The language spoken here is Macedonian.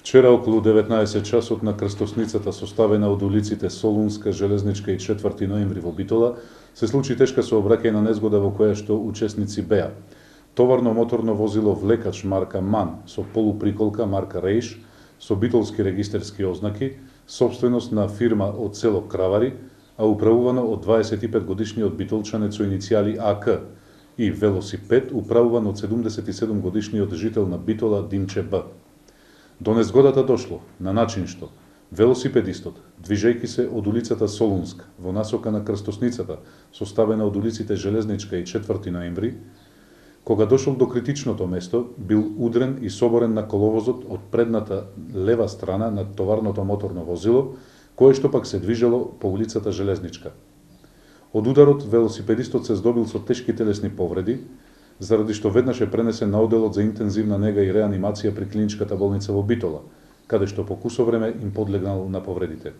Вчера околу 19 часот на крстосницата составена од улиците Солунска, Железничка и 4 ноември во Битола се случи тешка сообраќајна незгода во која што учесници беа товарно моторно возило влекач марка МАН со полуприколка марка Рейш со битолски регистерски ознаки, сопственост на фирма од село Кравари, а управувано од 25 годишниот битолчанец со иницијали АК, и велосипед управуван од 77 годишниот жител на Битола Димче Б. До незгодата дошло на начин што велосипедистот, движејќи се од улицата Солунска во насока на крстосницата, составена од улиците Железничка и 4 ноември, кога дошол до критичното место, бил удрен и соборен на коловозот од предната лева страна на товарното моторно возило, кое што пак се движело по улицата Железничка. Од ударот велосипедистот се здобил со тешки телесни повреди, заради што веднаш е пренесен на оделот за интензивна нега и реанимација при клиничката болница во Битола, каде што по кусо време им подлегнал на повредите.